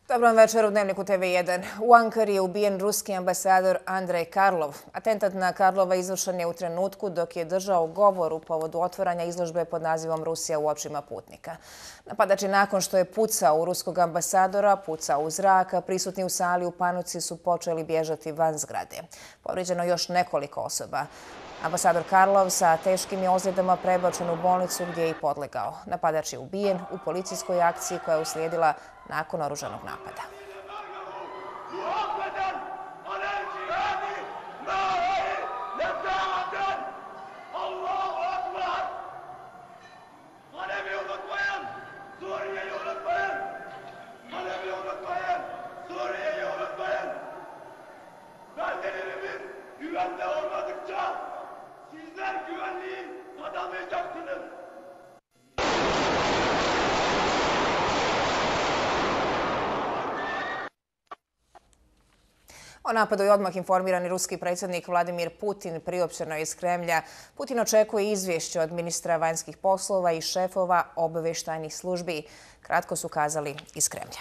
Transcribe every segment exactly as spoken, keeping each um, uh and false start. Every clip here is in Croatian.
Dobro večer u Dnevniku T V jedan. U Ankari je ubijen ruski ambasador Andrej Karlov. Atentat na Karlova izvršen je u trenutku dok je držao govor u povodu otvaranja izložbe pod nazivom Rusija u očima putnika. Napadač je nakon što je pucao u ruskog ambasadora, pucao u zrak, a prisutni u sali u panici su počeli bježati van zgrade. Povrijeđeno još nekoliko osoba. Ambasador Karlov sa teškim je ozljedama prebačen u bolnicu gdje je i podlegao. Napadač je ubijen u policijskoj akciji koja je uslijedila nakon oružanog napada. Sizler güvenliği tanımayacaksınız. O napadu je odmah informirani ruski predsjednik Vladimir Putin, priopćeno je iz Kremlja. Putin očekuje izvješće od ministra vanjskih poslova i šefova obavještajnih službi. Kratko su kazali iz Kremlja.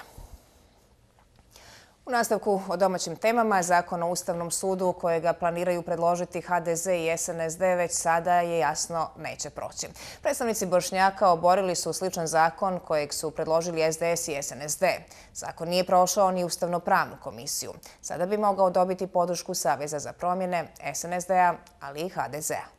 U nastavku o domaćim temama, Zakon o Ustavnom sudu kojega planiraju predložiti H D Z i S N S D već sada je jasno neće proći. Predstavnici Bošnjaka oborili su sličan zakon kojeg su predložili S D S i S N S D. Zakon nije prošao ni Ustavno-pravnu komisiju. Sada bi mogao dobiti podršku Saveza za promjene, S N S D-a, ali i H D Z-a.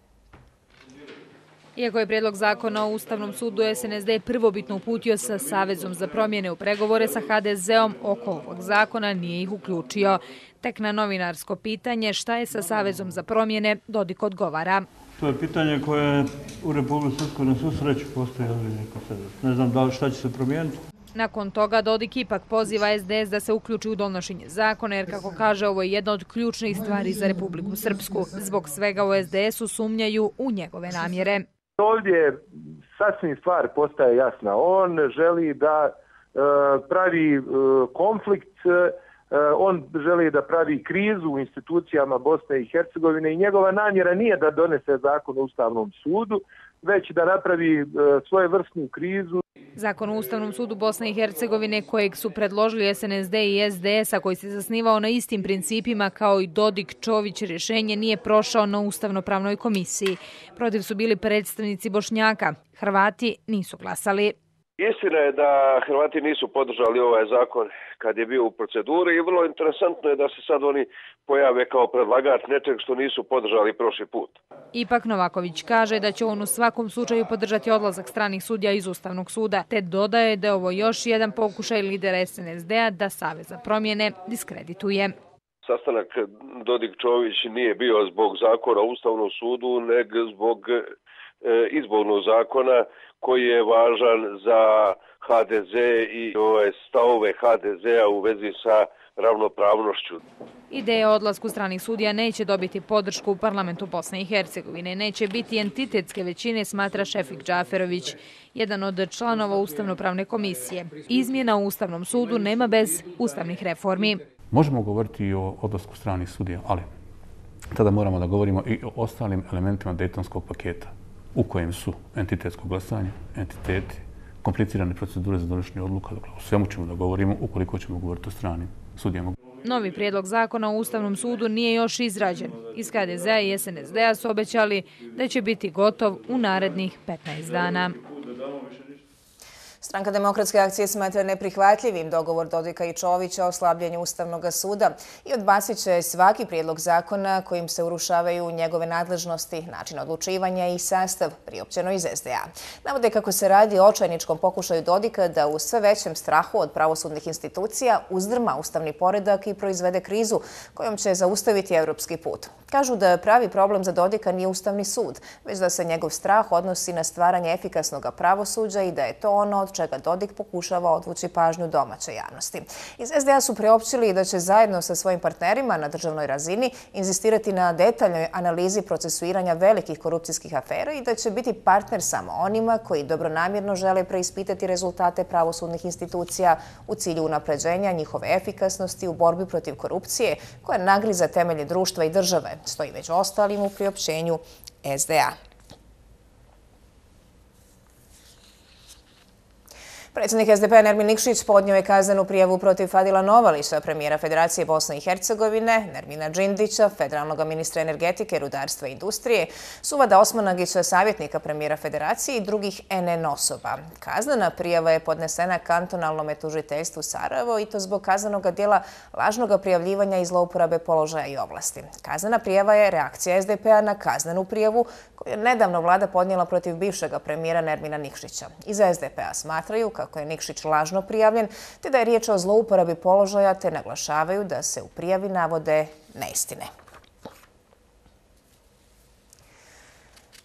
Iako je prijedlog zakona o Ustavnom sudu S N S D prvobitno uputio sa Savezom za promjene u pregovore sa H D Z-om, oko ovog zakona nije ih uključio. Tek na novinarsko pitanje šta je sa Savezom za promjene, Dodik odgovara. To je pitanje koje u Republici Srpskoj na svu sreću postoji ozbiljni konsenzus. Ne znam da li šta će se promijeniti. Nakon toga Dodik ipak poziva S D S da se uključi u donošenje zakona, jer kako kaže, ovo je jedna od ključnih stvari za Republiku Srpsku. Zbog svega u S D S-u sumnjaju u njegove namjere. Ovdje sasvim stvar postaje jasna. On želi da e, pravi e, konflikt, e, on želi da pravi krizu u institucijama Bosne i Hercegovine i njegova namjera nije da donese zakon o Ustavnom sudu, već da napravi e, svojevrsnu krizu. Zakon o Ustavnom sudu Bosne i Hercegovine kojeg su predložili S N S D i S D S, a koji se zasnivao na istim principima kao i Dodik Čović, rješenje nije prošao na Ustavno-pravnoj komisiji. Protiv su bili predstavnici Bošnjaka. Hrvati nisu glasali. Istina je da Hrvati nisu podržali ovaj zakon kad je bio u proceduri i vrlo interesantno je da se sad oni pojave kao predlagač nečeg što nisu podržali prošli put. Ipak Novaković kaže da će on u svakom slučaju podržati odlazak stranih sudija iz Ustavnog suda, te dodaje da je ovo još jedan pokušaj lidera S N S D-a da Savez za promjene diskredituje. Sastanak Dodik-Čović nije bio zbog zakona o Ustavnom sudu, nego zbog e, izbornog zakona koji je važan za H D Z i ove stavove H D Z-a u vezi sa ravnopravnošću. Ideja o odlasku stranih sudija neće dobiti podršku u parlamentu Bosne i Hercegovine. Neće biti entitetske većine, smatra Šefik Džaferović, jedan od članova Ustavno-pravne komisije. Izmjena u Ustavnom sudu nema bez ustavnih reformi. Možemo govoriti i o odlasku stranih sudija, ali tada moramo da govorimo i o ostalim elementima Dejtonskog paketa, u kojem su entitetsko glasanje, entiteti, komplicirane procedure za donošenje odluka. Dakle, o svemu ćemo da govorimo ukoliko ćemo govoriti o stranim sudijama. Novi prijedlog zakona o Ustavnom sudu nije još izrađen. Iz H D Z-a i S N S D-a su obećali da će biti gotov u narednih petnaest dana. Stranka Demokratske akcije smatra neprihvatljivim dogovor Dodika i Čovića o slabljenju Ustavnog suda i odbacit će svaki prijedlog zakona kojim se urušavaju njegove nadležnosti, način odlučivanja i sastav, priopćeno iz S D A. Navode kako se radi o očajničkom pokušaju Dodika da u sve većem strahu od pravosudnih institucija uzdrma ustavni poredak i proizvede krizu kojom će zaustaviti europski put. Kažu da pravi problem za Dodika nije Ustavni sud, već da se njegov strah odnosi na stvaranje efikasnog pravosuđa i da je to ono od čega Dodik pokušava odvući pažnju domaće javnosti. Iz S D A su priopćili da će zajedno sa svojim partnerima na državnoj razini inzistirati na detaljnoj analizi procesuiranja velikih korupcijskih afera i da će biti partner samo onima koji dobronamjerno žele preispitati rezultate pravosudnih institucija u cilju unapređenja njihove efikasnosti u borbi protiv korupcije koja nagriza temelje društva i države, stoji među ostalim u priopćenju S D A. Predsjednik S D P-a Nermin Nikšić podnio je kaznenu prijavu protiv Fadila Novalića, premijera Federacije Bosne i Hercegovine, Nermina Džindića, federalnog ministra energetike, rudarstva i industrije, Suvada Osmanagića, savjetnika premijera Federacije i drugih N N osoba. Kaznena prijava je podnesena kantonalnom tužiteljstvu Sarajevo i to zbog kaznenog djela lažnog prijavljivanja i zlouporabe položaja i oblasti. Kaznena prijava je reakcija S D P-a na kaznenu prijavu koju je nedavno vlada podnijela protiv bivšeg premijera Nermina Nikšića. Iza S D P-a smatraju kako je Nikšić lažno prijavljen, te da je riječ o zlouporabi položaja, te naglašavaju da se u prijavi navode neistine.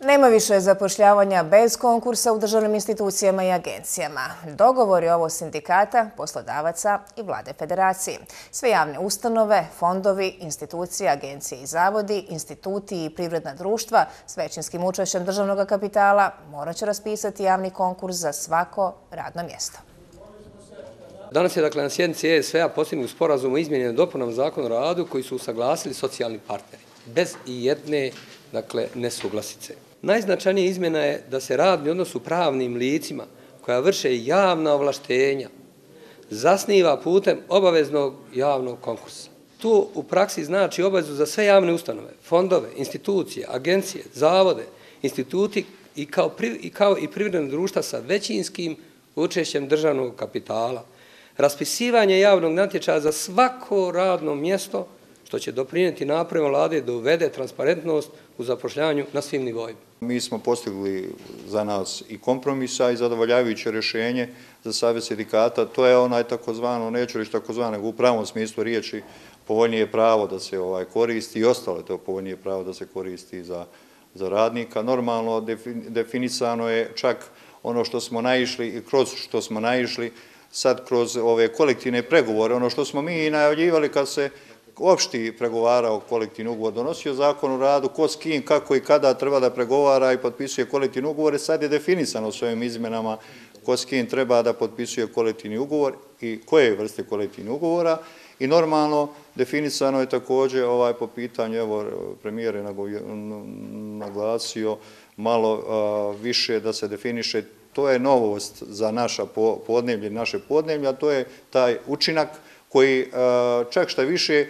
Nema više zapošljavanja bez konkursa u državnim institucijama i agencijama. Dogovor je ovo sindikata, poslodavaca i vlade federacije. Sve javne ustanove, fondovi, institucije, agencije i zavodi, instituti i privredna društva s većinskim učešćem državnog kapitala morat će raspisati javni konkurs za svako radno mjesto. Danas je dakle na sjednici E S V-a postignut sporazum o izmjenama i dopunama Zakona o radu koji su usaglasili socijalni partneri, bez i jedne dakle, nesuglasice. Najznačajnija izmjena je da se radni odnos u pravnim licima koja vrše javna ovlaštenja zasniva putem obaveznog javnog konkursa. To u praksi znači obavezu za sve javne ustanove, fondove, institucije, agencije, zavode, instituti i kao, pri, i kao i privredna društva sa većinskim učešćem državnog kapitala. Raspisivanje javnog natječaja za svako radno mjesto što će doprinijeti naporima vlade da uvede transparentnost u zapošljavanju na svim nivoima. Mi smo postigli za nas i kompromisa i zadovoljavajuće rješenje za savez sindikata. To je onaj takozvano, neću reći takozvano, u pravom smislu riječi, povoljnije pravo da se ovaj koristi i ostalo je to povoljnije pravo da se koristi za, za radnika. Normalno definisano je čak ono što smo naišli i kroz što smo naišli sad kroz ove kolektivne pregovore, ono što smo mi i najavljivali kad se opšti pregovarao kolektivni ugovor, donosio zakon o radu, ko s kim, kako i kada treba da pregovara i potpisuje kolektivni ugovor. Sad je definisano s ovim izmenama ko s kim treba da potpisuje kolektivni ugovor i koje vrste kolektivnih ugovora. I normalno definisano je također ovaj, po pitanju, evo premijer je naglasio malo a, više da se definiše. To je novost za naša podneblje, naše podneblje, a to je taj učinak koji čak šta više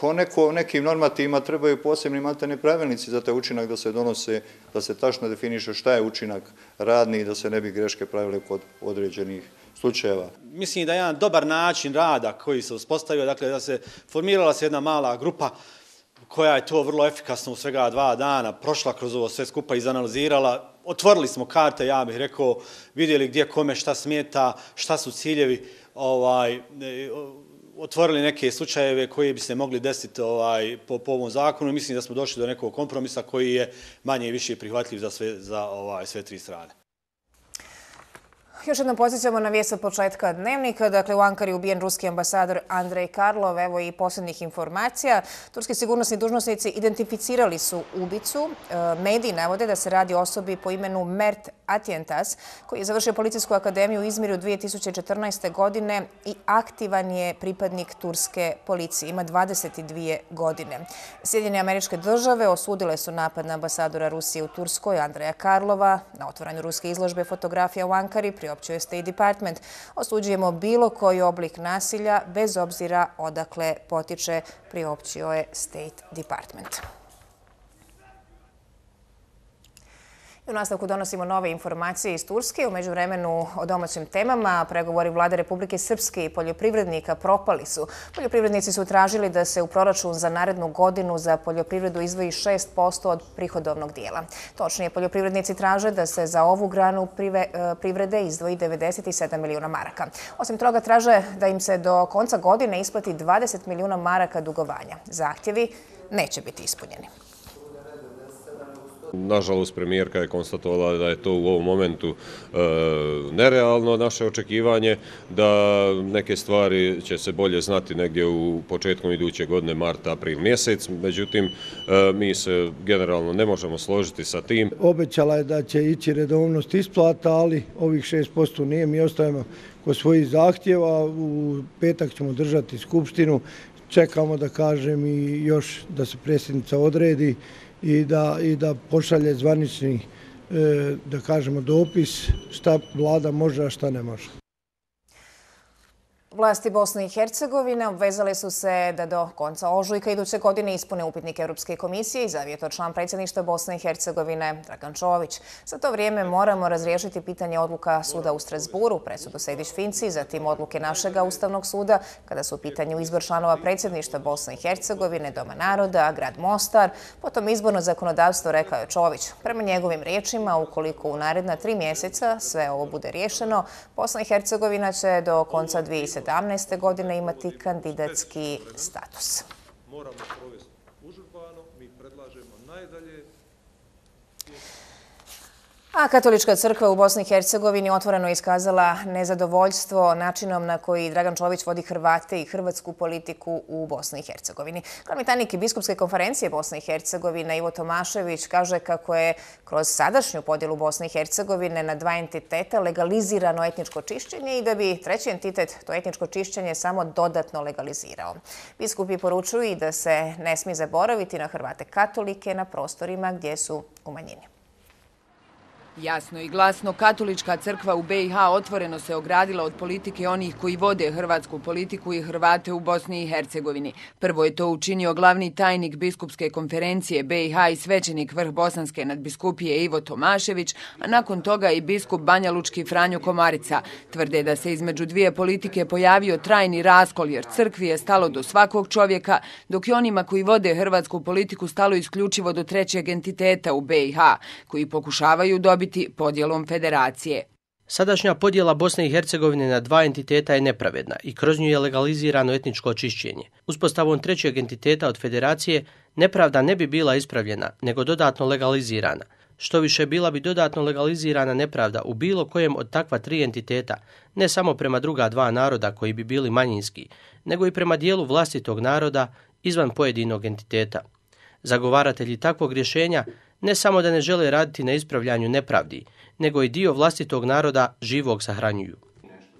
po neko, nekim normativima trebaju posebni maltene pravilnici za taj učinak da se donose, da se tačno definiše šta je učinak radni i da se ne bi greške pravile kod određenih slučajeva. Mislim da je jedan dobar način rada koji se uspostavio, dakle da se formirala se jedna mala grupa koja je to vrlo efikasno u svega dva dana prošla kroz ovo sve skupa i izanalizirala. Otvorili smo karte, ja bih rekao, vidjeli gdje kome šta smeta, šta su ciljevi, ovaj, otvorili neke slučajeve koji bi se mogli desiti ovaj, po, po ovom zakonu. Mislim da smo došli do nekog kompromisa koji je manje i više prihvatljiv za sve, za, ovaj, sve tri strane. Još jednom podsjećamo na vijest od početka dnevnika. Dakle, u Ankari ubijen ruski ambasador Andrej Karlov. Evo i posljednjih informacija. Turski sigurnosni dužnosnici identificirali su ubicu. Mediji navode da se radi o osobi po imenu Mert Atjentas, koji je završio policijsku akademiju u Izmiru dvije tisuće četrnaeste. godine i aktivan je pripadnik turske policije. Ima dvadeset dvije godine. Sjedinjene Američke Države osudile su napad na ambasadora Rusije u Turskoj, Andreja Karlova. Na otvaranju ruske izložbe fotografija u Ankari priopćio je State Department. Osuđujemo bilo koji oblik nasilja, bez obzira odakle potiče, priopćio je State Department. U nastavku donosimo nove informacije iz Turske. U međuvremenu o domaćim temama pregovori vlade Republike Srpske i poljoprivrednika propali su. Poljoprivrednici su tražili da se u proračun za narednu godinu za poljoprivredu izdvoji šest posto od prihodovnog dijela. Točnije, poljoprivrednici traže da se za ovu granu privrede izdvoji devedeset sedam milijuna maraka. Osim toga, traže da im se do konca godine isplati dvadeset milijuna maraka dugovanja. Zahtjevi neće biti ispunjeni. Nažalost, premijerka je konstatovala da je to u ovom momentu e, nerealno naše očekivanje, da neke stvari će se bolje znati negdje u početkom iduće godine, marta, april mjesec. Međutim, e, mi se generalno ne možemo složiti sa tim. Obećala je da će ići redovnost isplata, ali ovih šest posto nije. Mi ostajemo kod svojih zahtjeva. U petak ćemo držati skupštinu. Čekamo, da kažem, i još da se predsjednica odredi i da, i da pošalje zvanični, da kažemo, dopis šta vlada može, a šta ne može. Vlasti Bosne i Hercegovine obvezale su se da do konca ožujka iduće godine ispune upitnik Europske komisije, izjavio to član predsjedništva Bosne i Hercegovine Dragan Čović. Za to vrijeme moramo razriješiti pitanje odluka suda u Strasburu, presudu Sejdić-Finci, zatim odluke našega Ustavnog suda, kada su u pitanju izbor članova predsjedništva Bosne i Hercegovine, Doma naroda, grad Mostar, potom izborno zakonodavstvo, rekao je Čović. Prema njegovim riječima, ukoliko u naredna tri mjeseca sve ovo bude riješeno, Bosna i Hercegovina će do konca dvije hiljade sedamnaeste. godine imati kandidatski status. Moramo provesti užurbano, mi predlažemo najdalje. A Katolička crkva u Bosni i Hercegovini otvoreno iskazala nezadovoljstvo načinom na koji Dragan Čović vodi Hrvate i hrvatsku politiku u Bosni i Hercegovini. Glavni tajnik Biskupske konferencije Bosne i Hercegovine Ivo Tomašević kaže kako je kroz sadašnju podjelu Bosne i Hercegovine na dva entiteta legalizirano etničko čišćenje i da bi treći entitet to etničko čišćenje samo dodatno legalizirao. Biskupi poručuju i da se ne smije zaboraviti na Hrvate katolike na prostorima gdje su u manjini. Jasno i glasno, Katolička crkva u B i H otvoreno se ogradila od politike onih koji vode hrvatsku politiku i Hrvate u Bosni i Hercegovini. Prvo je to učinio glavni tajnik Biskupske konferencije B i H i svećenik vrh Bosanske nadbiskupije Ivo Tomašević, a nakon toga i biskup Banja Lučki Franjo Komarica. Tvrde da se između dvije politike pojavio trajni raskol jer crkvi je stalo do svakog čovjeka, dok je onima koji vode hrvatsku politiku stalo isključivo do trećeg entiteta u B i H, koji pokušavaju dobiti podjelom federacije. Sadašnja podjela Bosne i Hercegovine na dva entiteta je nepravedna i kroz nju je legalizirano etničko čišćenje. Uspostavom trećeg entiteta od federacije nepravda ne bi bila ispravljena, nego dodatno legalizirana. Što više, bila bi dodatno legalizirana nepravda u bilo kojem od takva tri entiteta, ne samo prema druga dva naroda koji bi bili manjinski, nego i prema dijelu vlastitog naroda izvan pojedinog entiteta. Zagovaratelji takvog rješenja ne samo da ne žele raditi na ispravljanju nepravdi, nego i dio vlastitog naroda živog sahranjuju.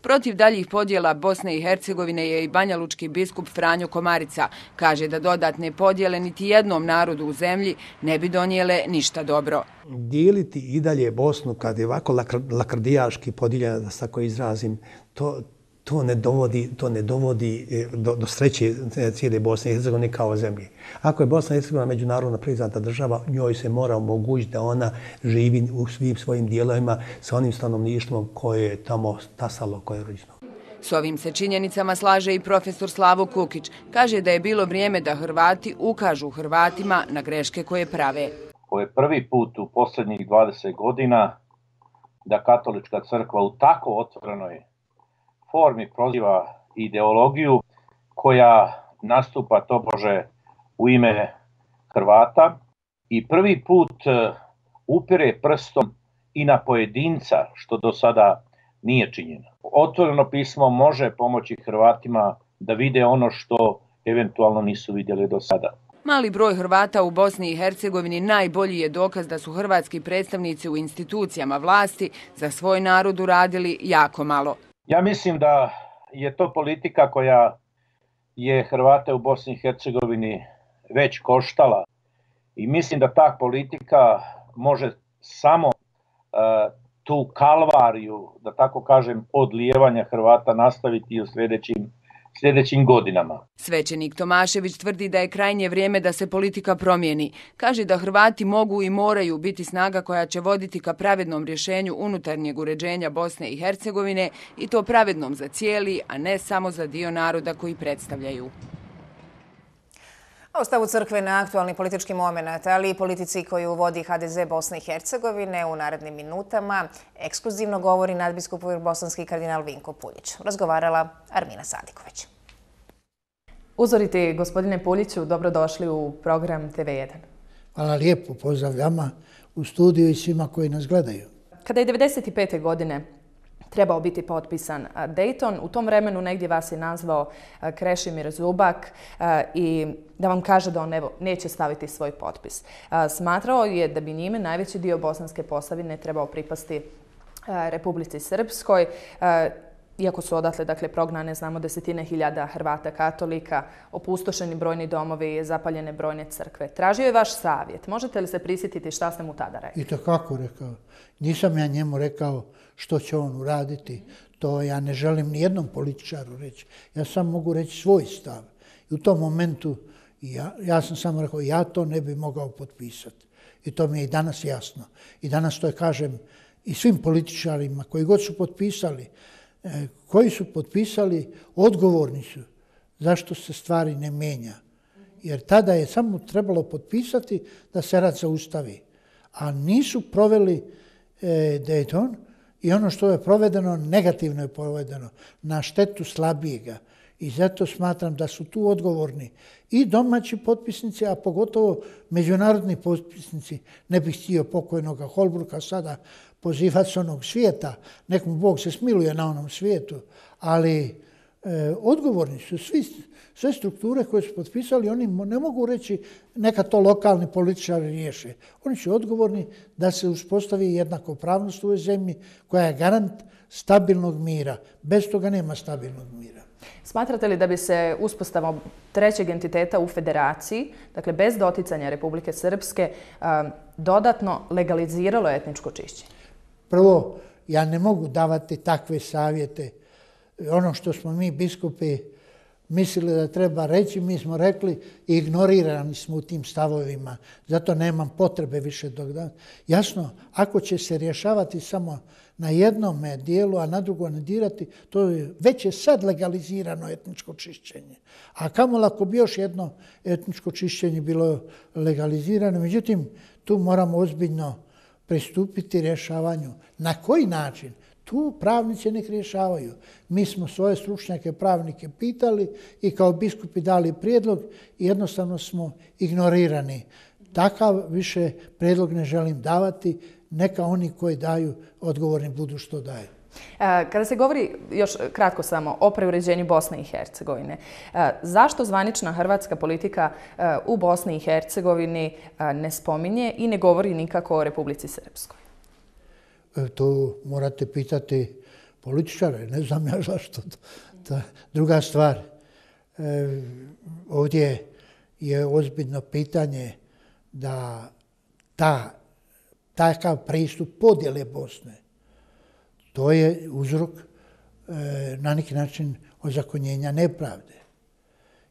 Protiv daljih podjela Bosne i Hercegovine je i banjalučki biskup Franjo Komarica. Kaže da dodatne podjele niti jednom narodu u zemlji ne bi donijele ništa dobro. Dijeliti i dalje Bosnu kad je ovako lakrdijaški podijeljena, da se tako izrazim, to, to ne dovodi, to ne dovodi do, do sreće cijele Bosne i Hercegovine kao zemlje. Ako je Bosna i Hercegovina međunarodno priznata država, njoj se mora omogućiti da ona živi u svim svojim dijelovima sa onim stanovništvom koje je tamo stasalo, koje je rođeno. S ovim se činjenicama slaže i profesor Slavo Kukić. Kaže da je bilo vrijeme da Hrvati ukažu Hrvatima na greške koje prave. Ovo je prvi put u posljednjih dvadeset godina da Katolička crkva u tako otvorenoj formi proziva ideologiju koja nastupa tobože u ime Hrvata i prvi put upire prstom i na pojedinca, što do sada nije činjeno. Otvoreno pismo može pomoći Hrvatima da vide ono što eventualno nisu vidjeli do sada. Mali broj Hrvata u Bosni i Hercegovini najbolji je dokaz da su hrvatski predstavnici u institucijama vlasti za svoj narod uradili jako malo. Ja mislim da je to politika koja je Hrvate u Bosni i Hercegovini već koštala i mislim da ta politika može samo uh, tu kalvariju, da tako kažem, odlijevanja Hrvata nastaviti i u sljedećim, sljedećim godinama. Svećenik Tomašević tvrdi da je krajnje vrijeme da se politika promijeni. Kaže da Hrvati mogu i moraju biti snaga koja će voditi ka pravednom rješenju unutarnjeg uređenja Bosne i Hercegovine i to pravednom za cijeli, a ne samo za dio naroda koji predstavljaju. O stavu crkve na aktualni politički moment, ali i politici koju vodi H D Z Bosne i Hercegovine u narednim minutama, ekskluzivno govori nadbiskup bosanski kardinal Vinko Puljić. Razgovarala Armina Sadiković. Uzoriti, gospodine Puljiću, dobrodošli u program T V jedan. Hvala lijepo, pozdrav vama u studiju i svima koji nas gledaju. Kada je devedeset pete godine trebao biti potpisan Dayton, u tom vremenu negdje vas je nazvao Krešimir Zubak i da vam kaže da on evo, neće staviti svoj potpis. Smatrao je da bi njime najveći dio Bosanske Posavine trebao pripasti Republici Srpskoj. iako su odatle dakle, prognane, znamo, desetine hiljada Hrvata katolika, opustošeni brojni domovi, zapaljene brojne crkve. Tražio je vaš savjet. Možete li se prisjetiti šta ste mu tada rekli? I to kako rekao. Nisam ja njemu rekao što će on uraditi. To ja ne želim ni jednom političaru reći. Ja sam mogu reći svoj stav. I u tom momentu ja, ja sam samo rekao ja to ne bi mogao potpisati. I to mi je i danas jasno. I danas to je, kažem, i svim političarima koji god su potpisali, koji su potpisali, odgovorni su zašto se stvari ne mijenja. Jer tada je samo trebalo potpisati da se rat zaustavi. A nisu proveli e, Dayton i ono što je provedeno, negativno je provedeno, na štetu slabijega. I zato smatram da su tu odgovorni i domaći potpisnici, a pogotovo međunarodni potpisnici. Ne bih htio pokojnoga Holbrooka sada pozivati s onog svijeta, nek mu Bog se smiluje na onom svijetu, ali e, odgovorni su svi, sve strukture koje su potpisali, oni ne mogu reći neka to lokalni političari riješe. Oni su odgovorni da se uspostavi jednakopravnost u ovoj zemlji koja je garant stabilnog mira. Bez toga nema stabilnog mira. Smatrate li da bi se uspostavom trećeg entiteta u federaciji, dakle bez doticanja Republike Srpske, dodatno legaliziralo etničko čišćenje? Prvo, ja ne mogu davati takve savjete. Ono što smo mi biskupi mislili da treba reći, mi smo rekli i ignorirani smo u tim stavovima. Zato nemam potrebe više dok da. Jasno, ako će se rješavati samo na jednom dijelu, a na drugo ne dirati, to je već je sad legalizirano etničko čišćenje. A kamo ako bi još jedno etničko čišćenje bilo legalizirano, međutim, tu moramo ozbiljno pristupiti rješavanju. Na koji način? Tu pravnici nek rješavaju. Mi smo svoje stručnjake pravnike pitali i kao biskupi dali prijedlog i jednostavno smo ignorirani. Takav više prijedlog ne želim davati, neka oni koji daju odgovorni budu što daju. Kada se govori, još kratko samo, o preuređenju Bosne i Hercegovine, zašto zvanična hrvatska politika u Bosni i Hercegovini ne spominje i ne govori nikako o Republici Srpskoj? To morate pitati političare, ne znam ja zašto. Druga stvar, ovdje je ozbiljno pitanje da ta, takav pristup podjele Bosne, to je uzrok na neki način ozakonjenja nepravde.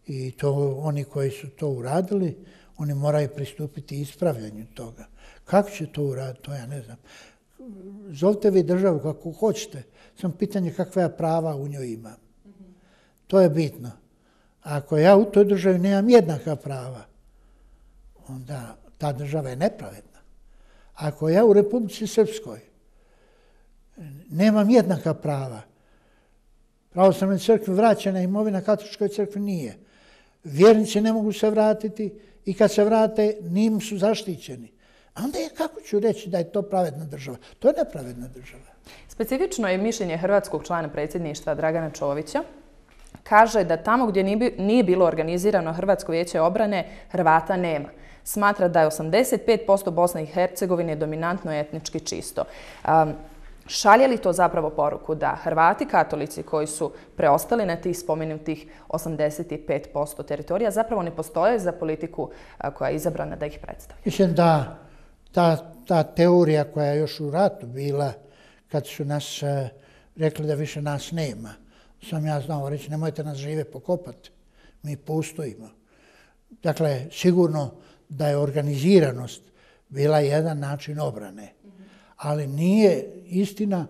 I to oni koji su to uradili, oni moraju pristupiti ispravljanju toga. Kako će to uraditi, to ja ne znam. Zovite vi državu kako hoćete, samo pitanje kakva ja prava u njoj imam. To je bitno. Ako ja u toj državi nemam jednaka prava, onda ta država je nepravedna. Ako ja u Republici Srpskoj nemam jednaka prava, pravoslavnoj crkvi vraćena imovina, katoličkoj crkvi nije. Vjernici ne mogu se vratiti i kad se vrate, njim su zaštićeni. A onda je kako ću reći da je to pravedna država? To je nepravedna država. Specifično je mišljenje hrvatskog člana predsjedništva Dragana Čovića. Kaže da tamo gdje nije bilo organizirano Hrvatsko vijeće obrane, Hrvata nema. Smatra da je osamdeset pet posto Bosne i Hercegovine dominantno etnički čisto. Um, Šalje li to zapravo poruku da Hrvati katolici koji su preostali na tih spomenutih osamdeset pet posto teritorija zapravo ne postoje za politiku koja je izabrana da ih predstavlja? Mislim da ta, ta teorija koja je još u ratu bila, kad su nas uh, rekli da više nas nema, sam ja znao reći nemojte nas žive pokopati, mi postojimo. Dakle, sigurno da je organiziranost bila jedan način obrane. Ali nije istina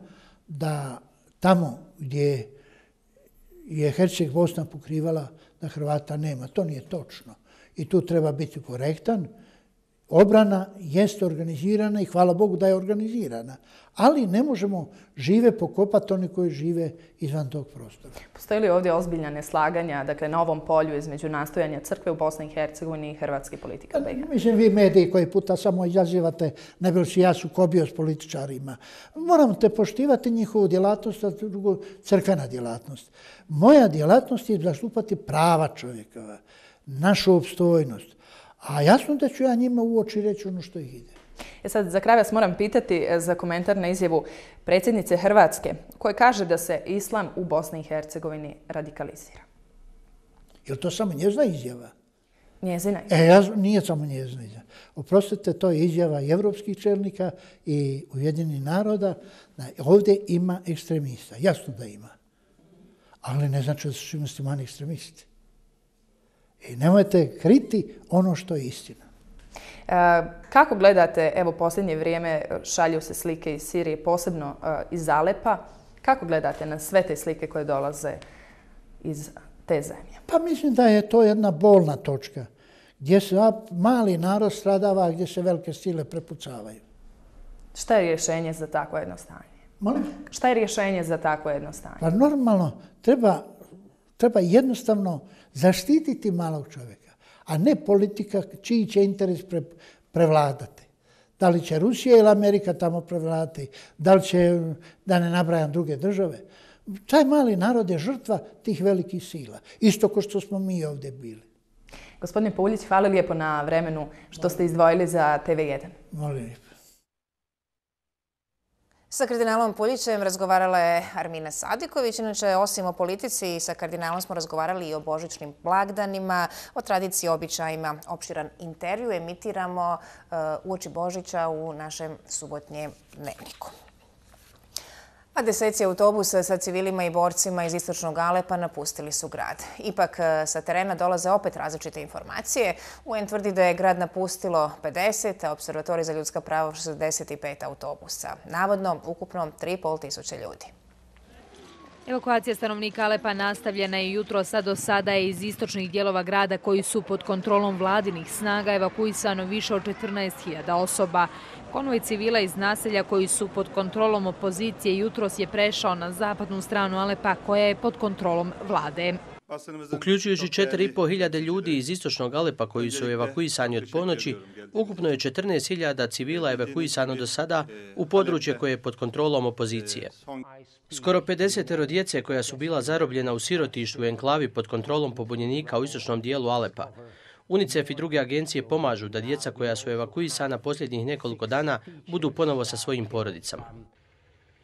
da tamo gdje je Herceg Bosna pokrivala da Hrvata nema. To nije točno. I tu treba biti korektan. Obrana jeste organizirana i hvala Bogu da je organizirana. Ali ne možemo žive pokopati oni koji žive izvan tog prostora. Postoji li ovdje ozbiljna neslaganja, dakle na ovom polju između nastojanja crkve u Bosni i Hercegovini i hrvatske politika B i H? Mislim, vi mediji koji puta samo izazivate, ne bi li si ja sukobio s političarima. Moramo te poštivati njihovu djelatnost, a drugo crkvena djelatnost. Moja djelatnost je zastupati prava čovjekova, našu opstojnost. A jasno da ću ja njima u oči reći ono što ih ide. E sad, za kraj vas moram pitati za komentar na izjavu predsjednice Hrvatske, koja kaže da se islam u Bosni i Hercegovini radikalizira. Je li to samo njezina izjava? Njezina izjava. E, ja, nije samo njezina izjava. Oprostite, to je izjava i evropskih čelnika i Ujedinjenih naroda. Ovdje ima ekstremista. Jasno da ima. Ali ne znači da su svi muslimani ekstremisti. I nemojte kriti ono što je istina. E, kako gledate, evo posljednje vrijeme šalju se slike iz Sirije, posebno e, iz Alepa. Kako gledate na sve te slike koje dolaze iz te zemlje? Pa mislim da je to jedna bolna točka gdje se mali narod stradava, gdje se velike sile prepucavaju. Šta je rješenje za takvo jedno stanje? Molim? Šta je rješenje za takvo jedno stanje? Pa normalno, treba, treba jednostavno zaštititi malog čovjeka, a ne politika čiji će interes pre, prevladati. Da li će Rusija ili Amerika tamo prevladati, da li će, da ne nabrajam druge države. Taj mali narod je žrtva tih velikih sila. Isto kao što smo mi ovdje bili. Gospodine Puljić, hvala lijepo na vremenu što ste izdvojili za T V jedan. Molim lijepo. Sa kardinalom Puljićem razgovarala je Armina Sadiković. Inače, osim o politici, sa kardinalom smo razgovarali i o božićnim blagdanima, o tradiciji, običajima. Opširan intervju emitiramo uh, uoči Božića u našem subotnjem dnevniku. A deseci autobusa sa civilima i borcima iz istočnog Alepa napustili su grad. Ipak sa terena dolaze opet različite informacije. U en tvrdi da je grad napustilo pedeset, a Observatorij za ljudska prava šezdeset pet autobusa. Navodno, ukupno tri i pol tisuće ljudi. Evakuacija stanovnika Alepa nastavljena je jutro, a do sada je iz istočnih dijelova grada koji su pod kontrolom vladinih snaga evakuisano više od četrnaest hiljada osoba. Konvoj civila iz naselja koji su pod kontrolom opozicije jutros je prešao na zapadnu stranu Alepa koja je pod kontrolom vlade. Uključujući četiri i pol hiljade ljudi iz istočnog Alepa koji su evakuisani od ponoći, ukupno je četrnaest hiljada civila evakuisano do sada u područje koje je pod kontrolom opozicije. Skoro pedeset djece koja su bila zarobljena u sirotištu u enklavi pod kontrolom pobunjenika u istočnom dijelu Alepa. UNICEF i druge agencije pomažu da djeca koja su evakuisana posljednjih nekoliko dana budu ponovo sa svojim porodicama.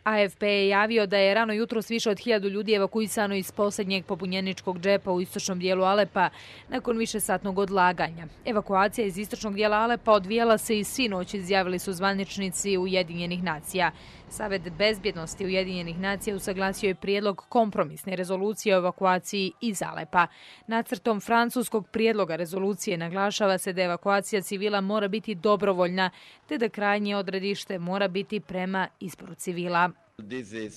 A F P je javio da je rano jutros više od hiljadu ljudi evakuisano iz posljednjeg pobunjeničkog džepa u istočnom dijelu Alepa nakon višesatnog odlaganja. Evakuacija iz istočnog dijela Alepa odvijala se i sinoć, izjavili su zvaničnici Ujedinjenih nacija. Savet bezbjednosti Ujedinjenih nacija usaglasio je prijedlog kompromisne rezolucije o evakuaciji iz Alepa. Nacrtom francuskog prijedloga rezolucije naglašava se da evakuacija civila mora biti dobrovoljna, te da krajnje odredište mora biti prema izboru civila.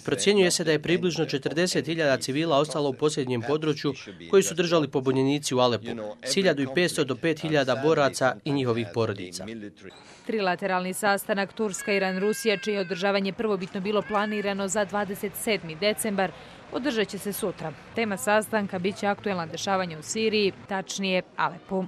Procjenjuje se da je približno četrdeset hiljada civila ostalo u posljednjem području koji su držali pobunjenici u Alepu, s hiljadu petsto do pet hiljada boraca i njihovih porodica. Trilateralni sastanak Turska-Iran-Rusija, čije održavanje prvobitno bilo planirano za dvadeset sedmi decembar, održat će se sutra. Tema sastanka biće aktuelna dešavanja u Siriji, tačnije Alepu.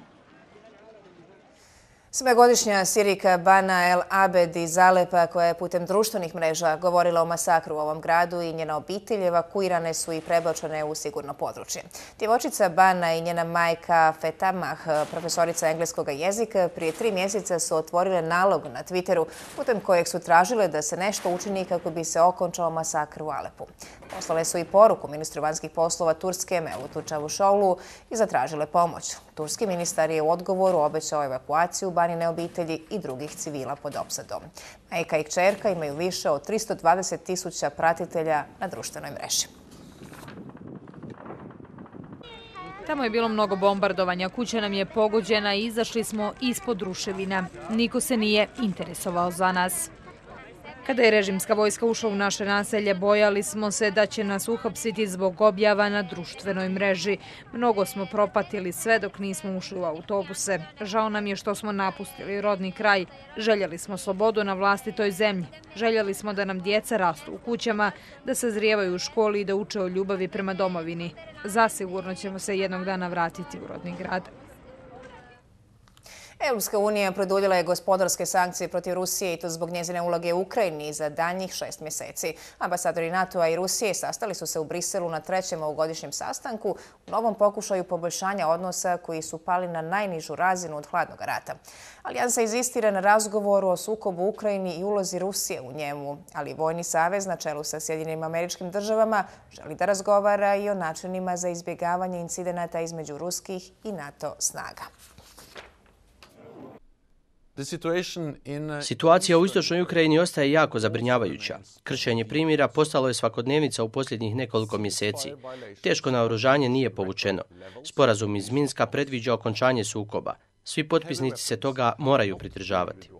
Sedmogodišnja Sirika Bana El Abed iz Alepa, koja je putem društvenih mreža govorila o masakru u ovom gradu i njena obitelj, evakuirane su i prebačene u sigurno područje. Djevojčica Bana i njena majka Fetamah, profesorica engleskog jezika, prije tri mjeseca su otvorile nalog na Twitteru putem kojeg su tražile da se nešto učini kako bi se okončao masakr u Alepu. Poslale su i poruku ministru vanjskih poslova Turske Mevlutu Čavuşoglu i zatražile pomoć. Turski ministar je u odgovoru obećao evakuaciju Banine obitelji i drugih civila pod opsadom. Majka i kćerka imaju više od tristo dvadeset tisuća pratitelja na društvenoj mreži. Tamo je bilo mnogo bombardovanja, kuća nam je pogođena i izašli smo ispod ruševina. Niko se nije interesovao za nas. Kada je režimska vojska ušla u naše naselje, bojali smo se da će nas uhapsiti zbog objava na društvenoj mreži. Mnogo smo propatili sve dok nismo ušli u autobuse. Žao nam je što smo napustili rodni kraj. Željeli smo slobodu na vlastitoj zemlji. Željeli smo da nam djeca rastu u kućama, da sazrijevaju u školi i da uče o ljubavi prema domovini. Zasigurno ćemo se jednog dana vratiti u rodni grad. Europska unija produljila je gospodarske sankcije protiv Rusije i to zbog njezine uloge u Ukrajini za daljnjih šest mjeseci. Ambasadori NATO-a i Rusije sastali su se u Briselu na trećem ovogodišnjem sastanku u novom pokušaju poboljšanja odnosa koji su pali na najnižu razinu od hladnog rata. Alijansa inzistira na razgovoru o sukobu u Ukrajini i ulozi Rusije u njemu, ali Vojni savez na čelu sa Sjedinjenim Američkim Državama želi da razgovara i o načinima za izbjegavanje incidenata između ruskih i NATO snaga. Situacija u istočnoj Ukrajini ostaje jako zabrinjavajuća. Kršenje primjera postalo je svakodnevnica u posljednjih nekoliko mjeseci. Teško naoružanje nije povučeno. Sporazum iz Minska predviđa okončanje sukoba. Svi potpisnici se toga moraju pridržavati.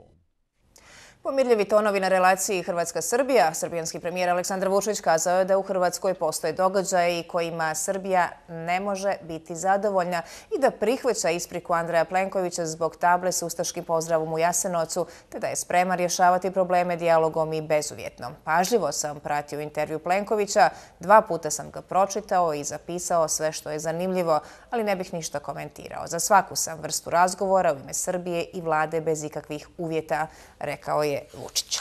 Pomirljivi tonovi na relaciji Hrvatska-Srbija. Srbijanski premijer Aleksandar Vučić kazao je da u Hrvatskoj postoje događaji kojima Srbija ne može biti zadovoljna i da prihvaća ispriku Andreja Plenkovića zbog table s ustaškim pozdravom u Jasenovcu, te da je spreman rješavati probleme dijalogom i bezuvjetno. Pažljivo sam pratio intervju Plenkovića, dva puta sam ga pročitao i zapisao sve što je zanimljivo, ali ne bih ništa komentirao. Za svaku sam vrstu razgovora u ime Srbije i vlade bez ikakvih uvjeta, rekao je Vučić.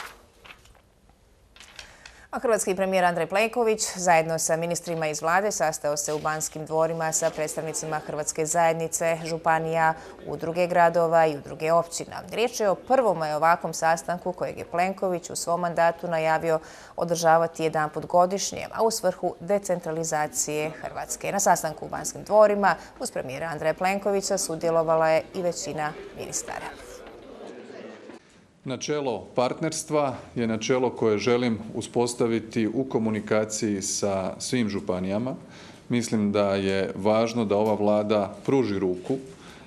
A hrvatski premijer Andrej Plenković zajedno sa ministrima iz vlade sastao se u Banskim dvorima sa predstavnicima Hrvatske zajednice, županija, udruge gradova i udruge općina. Riječ je o prvom ovakvom sastanku kojeg je Plenković u svom mandatu najavio održavati jedanput godišnje, a u svrhu decentralizacije Hrvatske. Na sastanku u Banskim dvorima uz premijera Andreja Plenkovića sudjelovala je i većina ministara. Načelo partnerstva je načelo koje želim uspostaviti u komunikaciji sa svim županijama. Mislim da je važno da ova vlada pruži ruku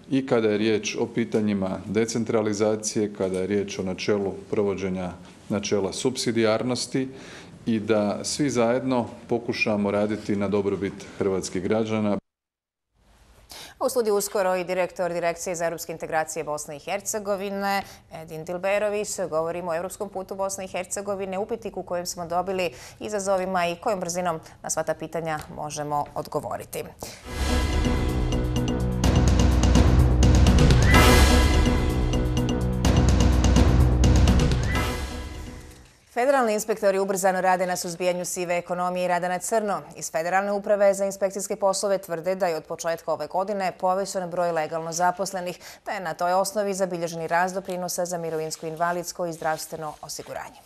i kada je riječ o pitanjima decentralizacije, kada je riječ o načelu provođenja načela supsidijarnosti i da svi zajedno pokušamo raditi na dobrobit hrvatskih građana. U studiju uskoro i direktor Direkcije za europske integracije Bosne i Hercegovine, Edin Dilberović. Govorimo o europskom putu Bosne i Hercegovine, upitniku kojem smo dobili izazovima i kojom brzinom na sva ta pitanja možemo odgovoriti. Federalni inspektori ubrzano rade na suzbijanju sive ekonomije i rada na crno. Iz Federalne uprave za inspekcijske poslove tvrde da je od početka ove godine povećan broj legalno zaposlenih, da je na toj osnovi zabilježeni rast doprinosa za mirovinsko, invalidsko i zdravstveno osiguranje.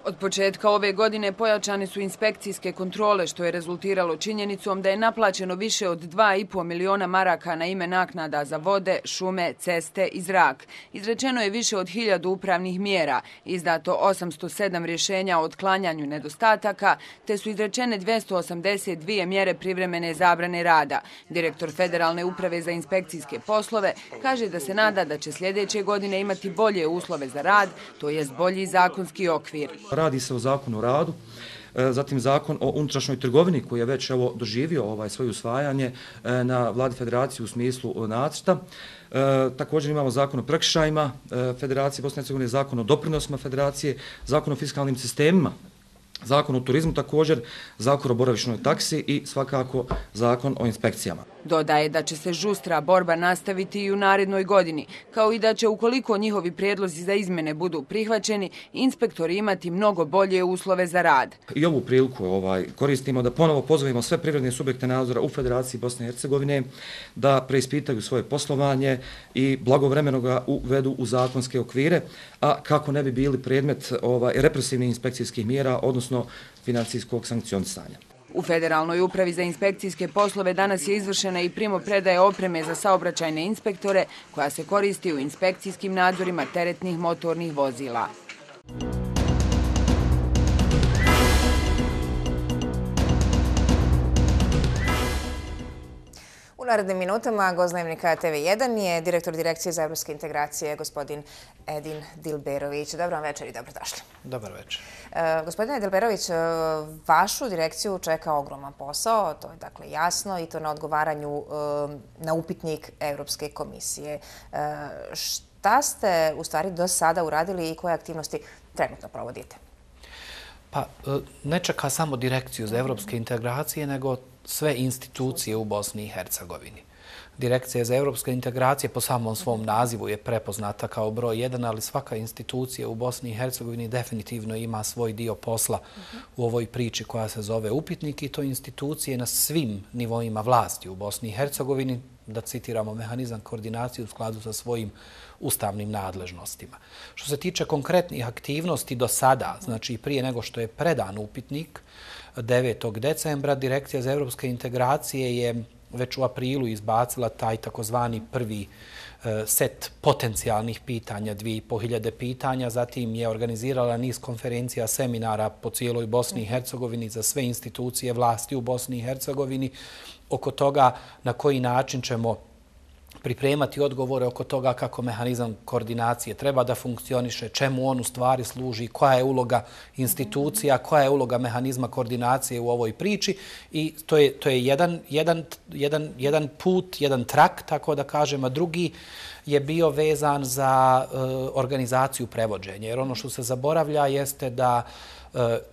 Od početka ove godine pojačane su inspekcijske kontrole, što je rezultiralo činjenicom da je naplaćeno više od dva i po miliona maraka na ime naknada za vode, šume, ceste i zrak. Izrečeno je više od hiljadu upravnih mjera, izdato osamsto sedam rješenja o otklanjanju nedostataka, te su izrečene dvjesto osamdeset dvije mjere privremene zabrane rada. Direktor Federalne uprave za inspekcijske poslove kaže da se nada da će sljedeće godine imati bolje uslove za rad, to jest bolji zakonski okvir. Radi se o zakonu o radu, zatim zakon o unutrašnjoj trgovini koji je već evo doživio ovaj svoje usvajanje na Vladi Federacije u smislu nacrta. Također imamo zakon o prekršajima Federacije Bosne i Hercegovine, zakon o doprinosima Federacije, zakon o fiskalnim sistemima, zakon o turizmu također, zakon o boravišnoj taksi i svakako zakon o inspekcijama. Dodaje da će se žustra borba nastaviti i u narednoj godini, kao i da će, ukoliko njihovi prijedlozi za izmene budu prihvaćeni, inspektori imati mnogo bolje uslove za rad. I ovu priliku ovaj, koristimo da ponovo pozovemo sve privredne subjekte nadzora u Federaciji Bosne i Hercegovine da preispitaju svoje poslovanje i blagovremeno ga uvedu u zakonske okvire, a kako ne bi bili predmet ovaj, represivnih inspekcijskih mjera, odnosno financijskog sankcionisanja. U Federalnoj upravi za inspekcijske poslove danas je izvršena i primopredaja opreme za saobraćajne inspektore koja se koristi u inspekcijskim nadzorima teretnih motornih vozila. U narednim minutama gost Dnevnika T V jedan je direktor Direkcije za evropske integracije, gospodin Edin Dilberović. Dobro vam večer i dobrodošli. Dobar večer. E, gospodine Dilberović, vašu direkciju čeka ogroman posao, to je dakle jasno, i to na odgovaranju e, na upitnik Evropske komisije. E, šta ste u stvari do sada uradili i koje aktivnosti trenutno provodite? Pa ne čeka samo Direkciju za evropske integracije, nego sve institucije u Bosni i Hercegovini. Direkcija za evropske integracije po samom svom nazivu je prepoznata kao broj jedan, ali svaka institucija u Bosni i Hercegovini definitivno ima svoj dio posla u ovoj priči koja se zove upitnik i to institucije na svim nivoima vlasti u Bosni i Hercegovini, da citiramo mehanizam koordinacije u skladu sa svojim ustavnim nadležnostima. Što se tiče konkretnih aktivnosti do sada, znači prije nego što je predan upitnik, devetog decembra Direkcija za evropske integracije je već u aprilu izbacila taj takozvani prvi set potencijalnih pitanja, dvije i po hiljade pitanja, zatim je organizirala niz konferencija, seminara po cijeloj Bosni i Hercegovini za sve institucije vlasti u Bosni i Hercegovini oko toga na koji način ćemo pripremati odgovore oko toga kako mehanizam koordinacije treba da funkcioniše, čemu on u stvari služi, koja je uloga institucija, koja je uloga mehanizma koordinacije u ovoj priči i to je, to je jedan, jedan, jedan, jedan put, jedan trak, tako da kažem, a drugi je bio vezan za uh, organizaciju prevođenja. Jer ono što se zaboravlja jeste da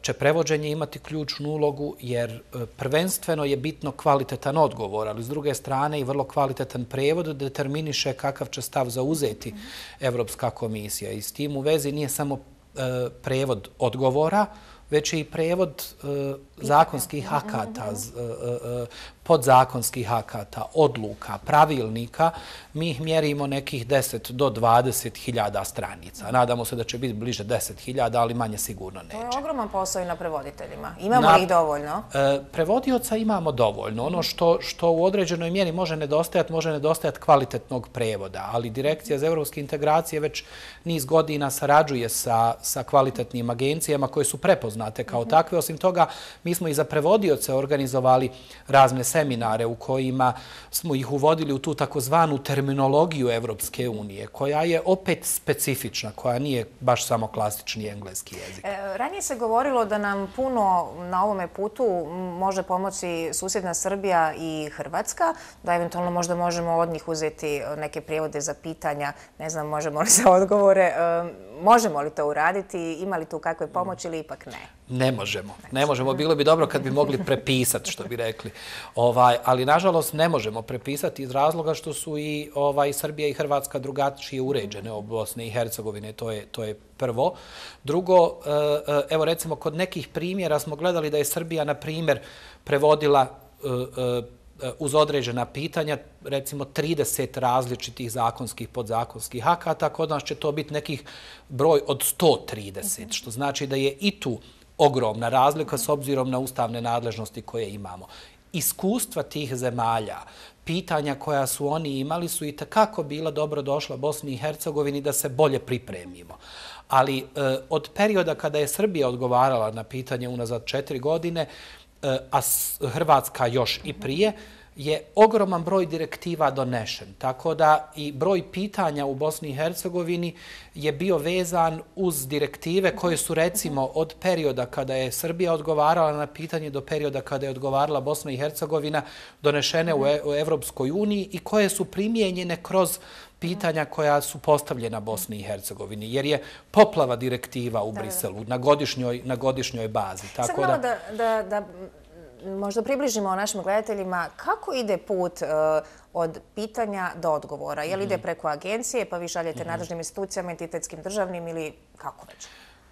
će prevođenje imati ključnu ulogu jer prvenstveno je bitno kvalitetan odgovor, ali s druge strane i vrlo kvalitetan prevod determiniše kakav će stav zauzeti Evropska komisija. I s tim u vezi nije samo prevod odgovora, već je i prevod zakonskih akata, podzakonskih akata, odluka, pravilnika. Mi ih mjerimo nekih deset do dvadeset hiljada stranica. Nadamo se da će biti bliže deset hiljada, ali manje sigurno neće. To je ogroman posao i na prevoditeljima. Imamo li ih dovoljno? Prevodioca imamo dovoljno. Ono što, što u određenoj mjeri može nedostajati, može nedostajati kvalitetnog prevoda, ali Direkcija za evropske integracije već niz godina sarađuje sa, sa kvalitetnim agencijama koje su prepoznate kao takve. Osim toga, mi smo i za prevodioce organizovali razne seminare u kojima smo ih uvodili u tu takozvanu terminologiju Evropske unije, koja je opet specifična, koja nije baš samo klasični engleski jezik. E, ranije se govorilo da nam puno na ovome putu može pomoći susjedna Srbija i Hrvatska, da eventualno možda možemo od njih uzeti neke prijevode za pitanja, ne znam, možemo li za odgovore. E, možemo li to uraditi? Ima li tu kakve pomoći ili ipak ne? Ne možemo. Ne možemo. Bilo bi dobro kad bi mogli prepisati, što bi rekli. Ovaj, ali, nažalost, ne možemo prepisati iz razloga što su i ovaj, Srbija i Hrvatska drugačije uređene u Bosne i Hercegovine. To je, to je prvo. Drugo, evo recimo, kod nekih primjera smo gledali da je Srbija, na primjer, prevodila uz određena pitanja, recimo trideset različitih zakonskih, podzakonskih akata, kod nas će to biti nekih broj od sto trideset, što znači da je i tu ogromna razlika s obzirom na ustavne nadležnosti koje imamo. Iskustva tih zemalja, pitanja koja su oni imali su i takako bila dobro došla Bosni i Hercegovini da se bolje pripremimo. Ali e, od perioda kada je Srbija odgovarala na pitanje unazad četiri godine, e, a Hrvatska još i prije, je ogroman broj direktiva donešen. Tako da i broj pitanja u Bosni i Hercegovini je bio vezan uz direktive koje su recimo od perioda kada je Srbija odgovarala na pitanje do perioda kada je odgovarala Bosna i Hercegovina donešene u Evropskoj uniji i koje su primijenjene kroz pitanja koja su postavljena Bosni i Hercegovini, jer je poplava direktiva u Briselu na godišnjoj, na godišnjoj bazi. Tako Sad malo da, da, da možda približimo našim gledateljima kako ide put uh, od pitanja do odgovora. Je li ide preko agencije pa vi šaljete mm-hmm. nadležnim institucijama, entitetskim državnim ili kako već?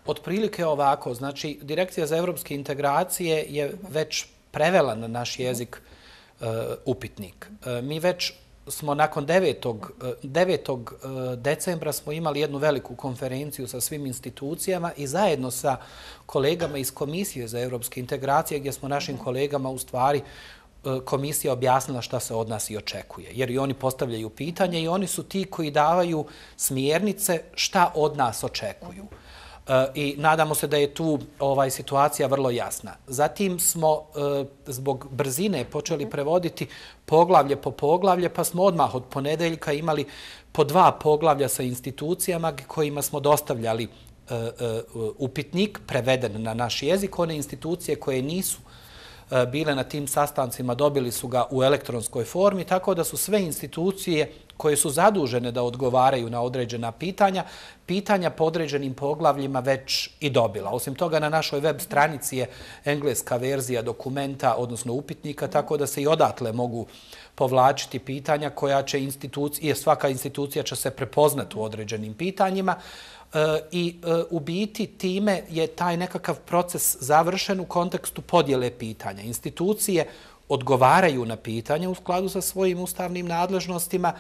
Otprilike ovako. Znači, Direkcija za evropske integracije je već prevela na naš jezik uh, upitnik. Uh, mi već smo nakon devetog decembra smo imali jednu veliku konferenciju sa svim institucijama i zajedno sa kolegama iz Komisije za evropske integracije gdje smo našim kolegama u stvari komisija objasnila šta se od nas i očekuje. Jer i oni postavljaju pitanje i oni su ti koji davaju smjernice šta od nas očekuju. I nadamo se da je tu ovaj situacija vrlo jasna. Zatim smo zbog brzine počeli prevoditi poglavlje po poglavlje, pa smo odmah od ponedeljka imali po dva poglavlja sa institucijama kojima smo dostavljali upitnik preveden na naš jezik. One institucije koje nisu bile na tim sastancima dobili su ga u elektronskoj formi, tako da su sve institucije koje su zadužene da odgovaraju na određena pitanja, pitanja po određenim poglavljima već i dobila. Osim toga, na našoj web stranici je engleska verzija dokumenta, odnosno upitnika, tako da se i odatle mogu povlačiti pitanja koja će institucija, svaka institucija će se prepoznati u određenim pitanjima. I u biti time je taj nekakav proces završen u kontekstu podjele pitanja. Institucije odgovaraju na pitanje u skladu sa svojim ustavnim nadležnostima,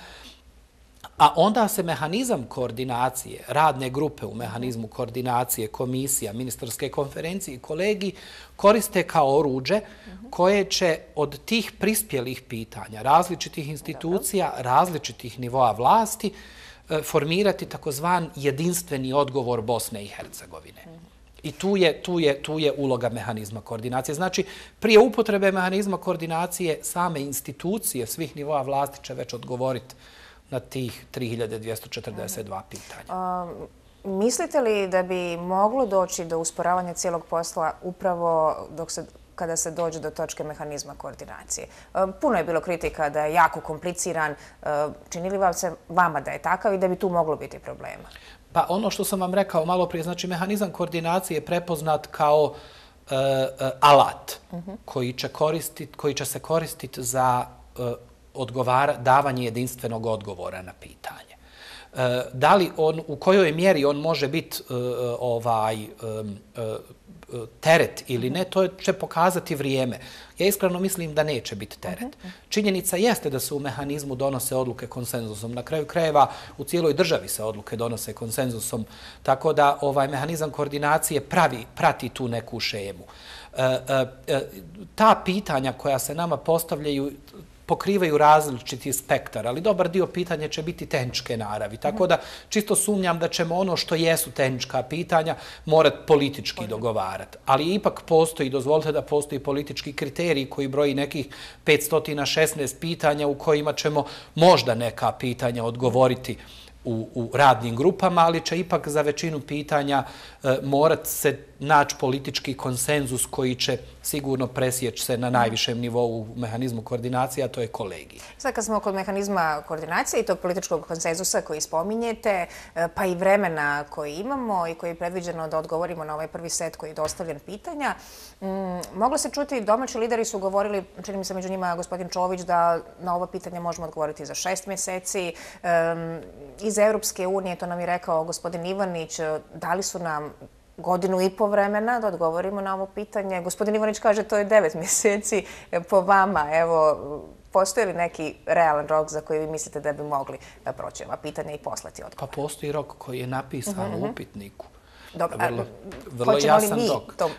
a onda se mehanizam koordinacije, radne grupe u mehanizmu koordinacije, komisija, ministarske konferencije i kolegiji koriste kao oruđe koje će od tih prispjelih pitanja različitih institucija, različitih nivoa vlasti formirati takozvan jedinstveni odgovor Bosne i Hercegovine. I tu je, tu je, tu je uloga mehanizma koordinacije. Znači, prije upotrebe mehanizma koordinacije same institucije svih nivoa vlasti će već odgovoriti na tih tri hiljade dvjesto četrdeset dva pitanja. Um, mislite li da bi moglo doći do usporavanja cijelog posla upravo dok se kada se dođe do točke mehanizma koordinacije? Puno je bilo kritika da je jako kompliciran. Čini li vam se vama da je takav i da bi tu moglo biti problema? Pa ono što sam vam rekao malo prije, znači mehanizam koordinacije je prepoznat kao uh, uh, alat uh-huh. koji, će koristit, koji će se koristiti za uh, odgovara, davanje jedinstvenog odgovora na pitanje. Uh, da li on, u kojoj mjeri on može biti uh, ovaj, um, uh, teret ili ne, to će pokazati vrijeme. Ja iskreno mislim da neće biti teret. Činjenica jeste da se u mehanizmu donose odluke konsenzusom. Na kraju krajeva u cijeloj državi se odluke donose konsenzusom, tako da ovaj mehanizam koordinacije pravi, prati tu neku šemu. E, e, ta pitanja koja se nama postavljaju pokrivaju različiti spektar, ali dobar dio pitanja će biti tehničke naravi. Tako da čisto sumnjam da ćemo ono što jesu tehnička pitanja morati politički dogovarati. Ali ipak postoji, dozvolite da postoji politički kriterij koji broji nekih petsto šesnaest pitanja u kojima ćemo možda neka pitanja odgovoriti u, u radnim grupama, ali će ipak za većinu pitanja e, morat se naći politički konsenzus koji će sigurno presjeći se na najvišem nivou u mehanizmu koordinacije, a to je kolegij. Sad kad smo kod mehanizma koordinacije i tog političkog konsenzusa koji spominjete, pa i vremena koji imamo i koji je predviđeno da odgovorimo na ovaj prvi set koji je dostavljen pitanja, mm, moglo se čuti, domaći lideri su govorili, čini mi se među njima gospodin Čović, da na ova pitanja možemo odgovoriti za šest mjeseci. Um, iz Europske unije, to nam je rekao gospodin Ivanić, dali su nam godinu i po vremena da odgovorimo na ovo pitanje. Gospodin Ivanić kaže to je devet mjeseci. Po vama, evo, postoji li neki realan rok za koji vi mislite da bi mogli da proći ova pitanja i poslati odgovor? Pa postoji rok koji je napisan uh-huh. u upitniku. Dobro, vrlo, vrlo jasan rok. To uh,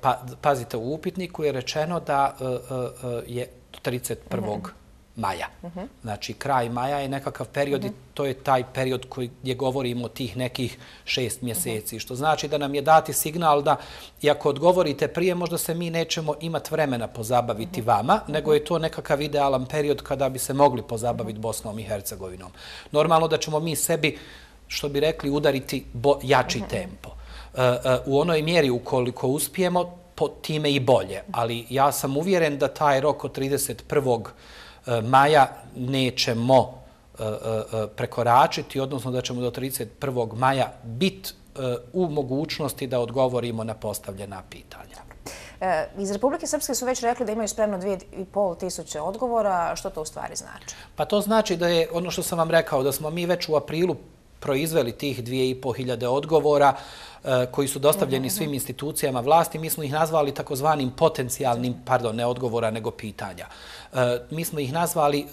pa, pazite, u upitniku je rečeno da uh, uh, je trideset prvog maja. Uh-huh. Znači, kraj maja je nekakav period uh-huh. i to je taj period koji gdje govorimo o tih nekih šest mjeseci. Uh-huh. Što znači da nam je dati signal da, i ako odgovorite prije, možda se mi nećemo imati vremena pozabaviti uh-huh. vama, nego je to nekakav idealan period kada bi se mogli pozabaviti uh-huh. Bosnom i Hercegovinom. Normalno da ćemo mi sebi, što bi rekli, udariti bo, jači uh-huh. tempo. Uh, uh, u onoj mjeri ukoliko uspijemo, po time i bolje. Ali ja sam uvjeren da taj rok od trideset prvog maja nećemo prekoračiti, odnosno da ćemo do trideset prvog maja biti u mogućnosti da odgovorimo na postavljena pitanja. Iz Republike Srpske su već rekli da imaju spremno dvije i pol tisuće odgovora. Što to u stvari znači? Pa to znači da je, ono što sam vam rekao, da smo mi već u aprilu proizveli tih dvije i pol hiljade odgovora koji su dostavljeni svim institucijama vlasti. Mi smo ih nazvali takozvanim potencijalnim, pardon, ne odgovora, nego pitanja. Mi smo ih nazvali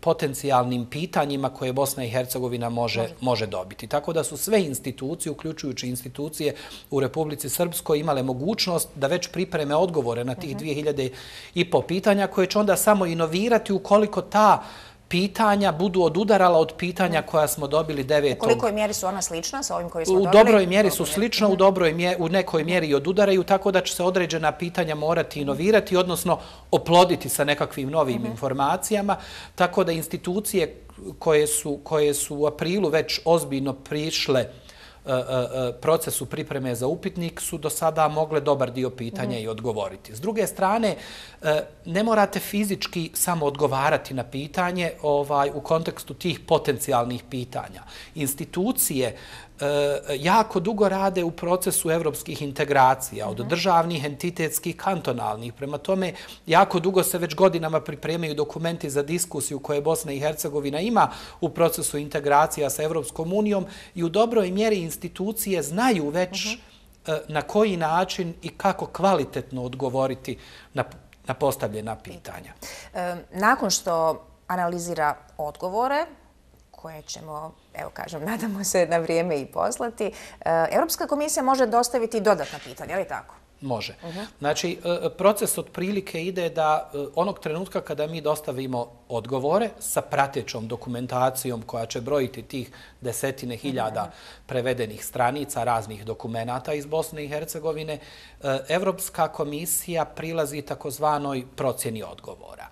potencijalnim pitanjima koje Bosna i Hercegovina može, može dobiti. Tako da su sve institucije, uključujući institucije u Republici Srpskoj, imale mogućnost da već pripreme odgovore na tih dvije hiljade i pol pitanja koje će onda samo inovirati ukoliko ta pitanja budu odudarala od pitanja koja smo dobili devetog. U kolikoj mjeri su ona slična sa ovim koji smo dobili? U dobroj mjeri su slična, u, dobroj mjeri, u nekoj mjeri i odudaraju, tako da će se određena pitanja morati inovirati, odnosno oploditi sa nekakvim novim uh-huh. informacijama, tako da institucije koje su, koje su u aprilu već ozbiljno prišle procesu pripreme za upitnik su do sada mogle dobar dio pitanja i odgovoriti. S druge strane, ne morate fizički samo odgovarati na pitanje u kontekstu tih potencijalnih pitanja. Institucije jako dugo rade u procesu evropskih integracija, od državnih, entitetskih, kantonalnih. Prema tome, jako dugo se već godinama pripremaju dokumenti za diskusiju koje Bosna i Hercegovina ima u procesu integracija sa Evropskom unijom i u dobroj mjeri institucije znaju već na koji način i kako kvalitetno odgovoriti na postavljena pitanja. Nakon što analizira odgovore, koje ćemo, evo kažem, nadamo se na vrijeme i poslati, Europska komisija može dostaviti dodatna pitanja, ali tako? Može. Znači, proces otprilike ide da onog trenutka kada mi dostavimo odgovore sa pratećom dokumentacijom koja će brojiti tih desetine hiljada prevedenih stranica raznih dokumenata iz Bosne i Hercegovine, Evropska komisija prilazi takozvanoj procjeni odgovora.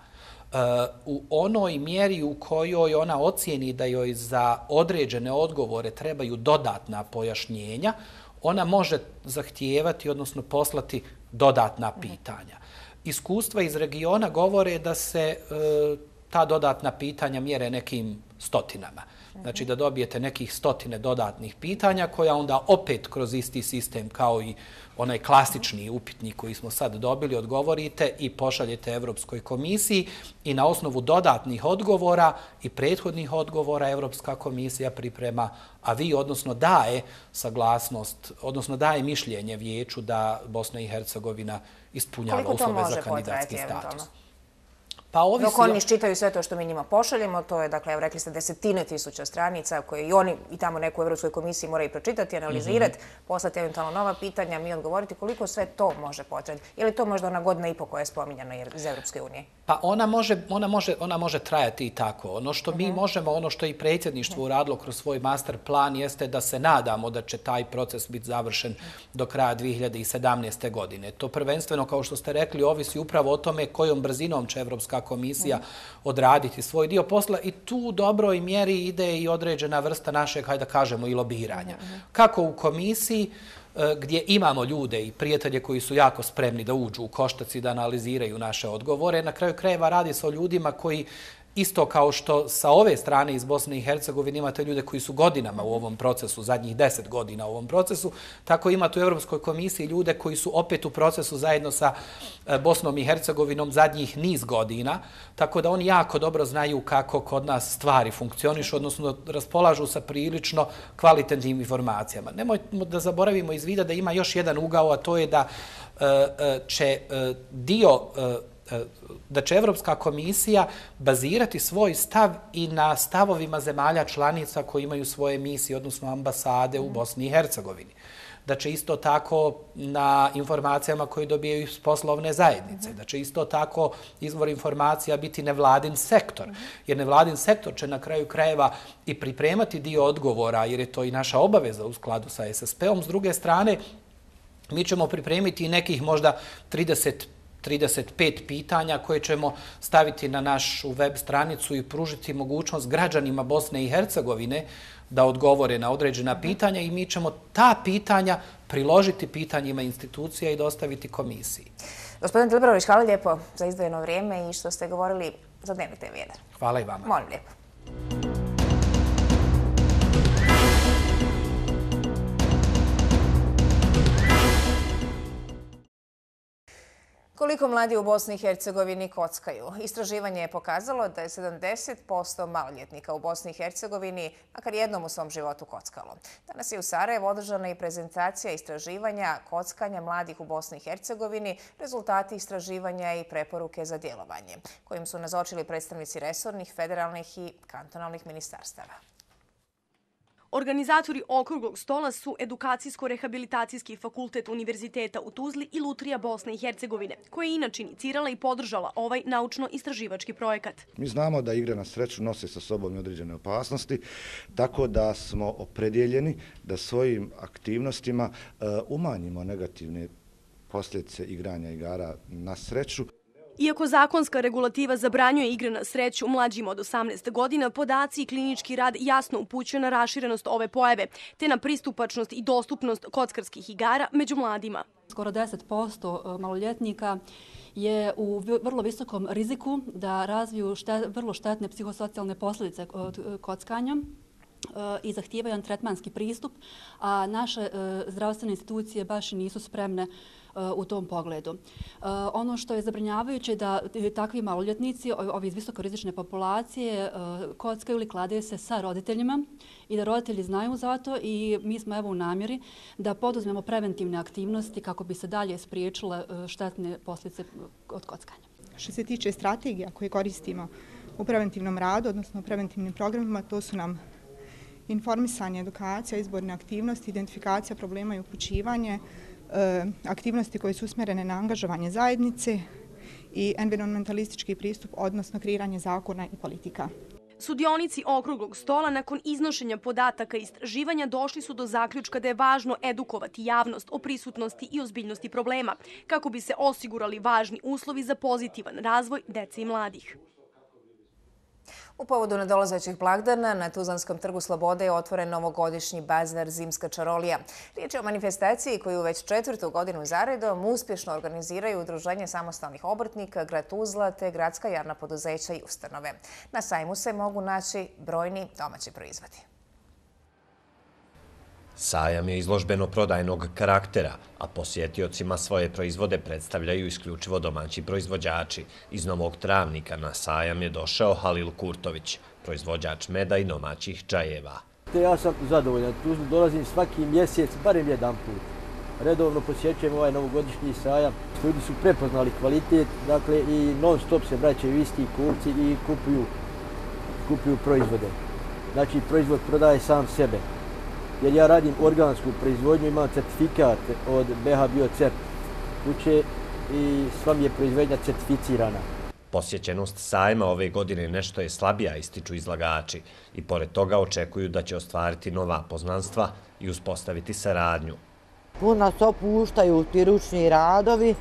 U onoj mjeri u kojoj ona ocijeni da joj za određene odgovore trebaju dodatna pojašnjenja, ona može zahtijevati, odnosno poslati dodatna pitanja. Iskustva iz regiona govore da se ta dodatna pitanja mjere nekim stotinama. Znači da dobijete nekih stotine dodatnih pitanja koja onda opet kroz isti sistem kao i onaj klasični upitnik koji smo sad dobili odgovorite i pošaljete Evropskoj komisiji i na osnovu dodatnih odgovora i prethodnih odgovora Evropska komisija priprema, a vi odnosno daje saglasnost, odnosno daje mišljenje vijeću da Bosna i Hercegovina ispunjava uslove za kandidatski status. Pa ovisi... Dok oni iščitaju sve to što mi njima pošaljemo, to je, dakle, evo rekli ste, desetine tisuća stranica koje i oni i tamo neko u Evropskoj komisiji moraju pročitati, analizirati, poslati eventualno nova pitanja, mi odgovoriti koliko sve to može potrebiti. Je li to možda ona godina i po koja je spominjana iz Evropske unije? Pa ona može, ona može, ona može trajati i tako. Ono što mi možemo, ono što i predsjedništvo uradilo kroz svoj master plan jeste da se nadamo da će taj proces biti završen do kraja dvije hiljade sedamnaeste. godine. To prvenstveno, kao što ste rekli, ovisi upravo o tome kojom brzinom će Evropska komisija odraditi svoj dio posla i tu u dobroj mjeri ide i određena vrsta našeg, hajde da kažemo, i lobiranja. Kako u komisiji, gdje imamo ljude i prijatelje koji su jako spremni da uđu u koštac i da analiziraju naše odgovore, na kraju krajeva radi se o ljudima koji isto kao što sa ove strane iz Bosne i Hercegovine imate ljude koji su godinama u ovom procesu, zadnjih deset godina u ovom procesu, tako imate u Europskoj komisiji ljude koji su opet u procesu zajedno sa Bosnom i Hercegovinom zadnjih niz godina, tako da oni jako dobro znaju kako kod nas stvari funkcionišu, odnosno raspolažu sa prilično kvalitetnim informacijama. Nemojmo da zaboravimo iz vida da ima još jedan ugao, a to je da će dio da će Evropska komisija bazirati svoj stav i na stavovima zemalja članica koji imaju svoje misije, odnosno ambasade u Bosni i Hercegovini. Da će isto tako na informacijama koje dobijaju iz poslovne zajednice, da će isto tako izvor informacija biti nevladin sektor, jer nevladin sektor će na kraju krajeva i pripremati dio odgovora, jer je to i naša obaveza u skladu sa S S P-om. S druge strane, mi ćemo pripremiti nekih možda trideset trideset pet pitanja koje ćemo staviti na našu web stranicu i pružiti mogućnost građanima Bosne i Hercegovine da odgovore na određena pitanja i mi ćemo ta pitanja priložiti pitanjima institucija i dostaviti komisiji. Gospodin Dilibrović, hvala lijepo za izdvojeno vrijeme i što ste govorili za Dnevnik T V jedan. Hvala i vama. Molim lijepo. Koliko mladi u Bosni i Hercegovini kockaju? Istraživanje je pokazalo da je sedamdeset posto maloljetnika u Bosni i Hercegovini makar jednom u svom životu kockalo. Danas je u Sarajevu održana i prezentacija istraživanja kockanja mladih u Bosni i Hercegovini, rezultati istraživanja i preporuke za djelovanje, kojim su nazočili predstavnici resornih, federalnih i kantonalnih ministarstava. Organizatori okruglog stola su Edukacijsko-rehabilitacijski fakultet Univerziteta u Tuzli i Lutrija Bosne i Hercegovine, koja je inače inicirala i podržala ovaj naučno-istraživački projekat. Mi znamo da igre na sreću nose sa sobom određene opasnosti, tako da smo opredjeljeni da svojim aktivnostima umanjimo negativne posljedice igranja igara na sreću. Iako zakonska regulativa zabranjuje igre na sreću mlađima od osamnaest godina, podaci i klinički rad jasno upućuju na raširenost ove pojave, te na pristupačnost i dostupnost kockarskih igara među mladima. Skoro deset posto maloljetnika je u vrlo visokom riziku da razviju štet, vrlo štetne psihosocijalne posljedice od kockanja i zahtijevaju jedan tretmanski pristup, a naše zdravstvene institucije baš nisu spremne u tom pogledu. Ono što je zabrinjavajuće je da takvi maloljetnici, ovi iz visokorizične populacije, kockaju ili kladaju se sa roditeljima i da roditelji znaju za to i mi smo evo u namjeri da poduzmemo preventivne aktivnosti kako bi se dalje spriječile štetne posljedice od kockanja. Što se tiče strategija koje koristimo u preventivnom radu, odnosno u preventivnim programima, to su nam informisanje, edukacija, izborne aktivnosti, identifikacija problema i upućivanje, aktivnosti koje su usmjerene na angažovanje zajednice i environmentalistički pristup, odnosno kreiranje zakona i politika. Sudionici okruglog stola nakon iznošenja podataka i istraživanja došli su do zaključka da je važno edukovati javnost o prisutnosti i ozbiljnosti problema, kako bi se osigurali važni uslovi za pozitivan razvoj dece i mladih. U povodu nadolazećih blagdana na Tuzlanskom trgu Slobode je otvoren novogodišnji bazar Zimska čarolija. Riječ je o manifestaciji koju već četvrtu godinu zaredom uspješno organiziraju Udruženje samostalnih obrtnika, grad Tuzla te gradska javna poduzeća i ustanove. Na sajmu se mogu naći brojni domaći proizvodi. Sajam je izložbeno-prodajnog karaktera, a posjetiocima svoje proizvode predstavljaju isključivo domaći proizvođači. Iz Novog Travnika na sajam je došao Halil Kurtović, proizvođač meda i domaćih čajeva. Ja sam zadovoljan, tu dolazim svaki mjesec, barem jedan put. Redovno posjećujem ovaj novogodišnji sajam. Ljudi su prepoznali kvalitet, dakle i non stop se vraćaju isti kupci i kupuju, kupuju proizvode. Znači proizvod prodaje sam sebe. Jer ja radim organsku proizvodnju, imam certifikat od B H Biocert kuće i sva mi je proizvodnja certificirana. Posjećenost sajma ove godine nešto je slabija, ističu izlagači, i pored toga očekuju da će ostvariti nova poznanstva i uspostaviti saradnju. Puno nas opuštaju ti ručni radovi,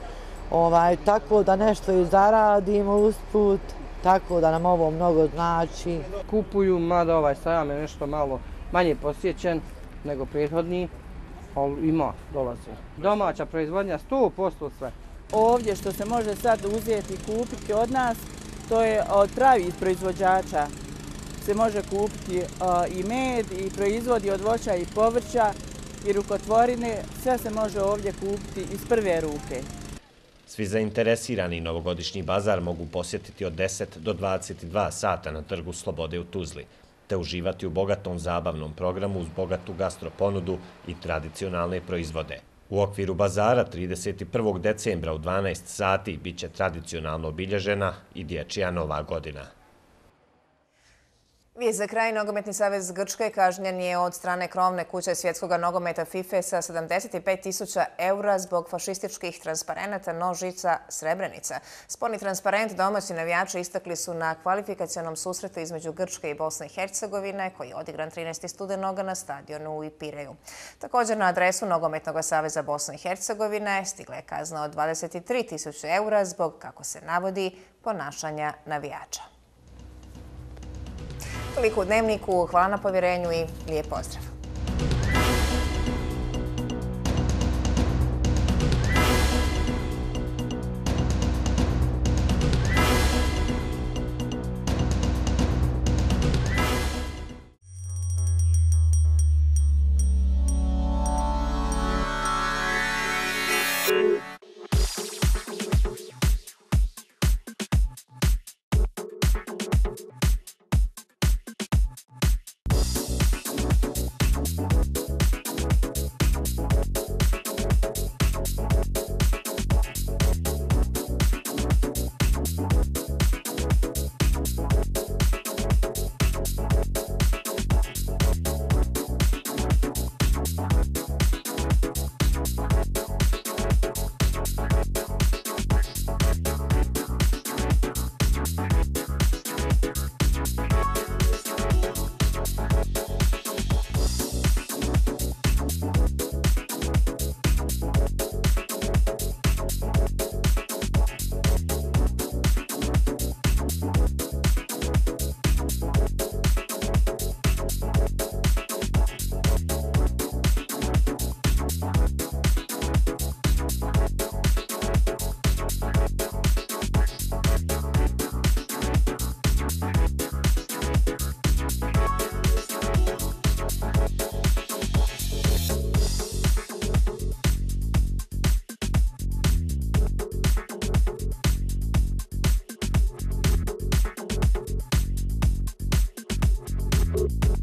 ovaj, tako da nešto i zaradimo usput, tako da nam ovo mnogo znači. Kupuju, mada ovaj sajam je nešto malo manje posjećen nego prethodni, ali ima, dolaze. Domaća proizvodnja sto posto sve. Ovdje što se može sad uzeti i kupiti od nas, to je od pravih proizvođača. Se može kupiti uh, i med, i proizvodi od voća i povrća, i rukotvorine, sve se može ovdje kupiti iz prve ruke. Svi zainteresirani novogodišnji bazar mogu posjetiti od deset do dvadeset dva sata na trgu Slobode u Tuzli, te uživati u bogatom zabavnom programu uz bogatu gastroponudu i tradicionalne proizvode. U okviru bazara trideset prvog decembra u dvanaest sati bit će tradicionalno obilježena i dječja Nova godina. Vijest za kraj, Nogometni savez Grčke kažnjen je od strane krovne kuće svjetskog nogometa FIFA sa sedamdeset pet tisuća eura zbog fašističkih transparenata nožica Srebrenica. Sporni transparent domaći navijači istakli su na kvalifikacionom susretu između Grčke i Bosne i Hercegovine, koji je odigran trinaestog studenoga na stadionu u Pireju. Također na adresu Nogometnog saveza Bosne i Hercegovine stigla je kazna od dvadeset tri tisuće eura zbog, kako se navodi, ponašanja navijača. Toliko u Dnevniku, hvala na povjerenju i lijep pozdrav. Thank you.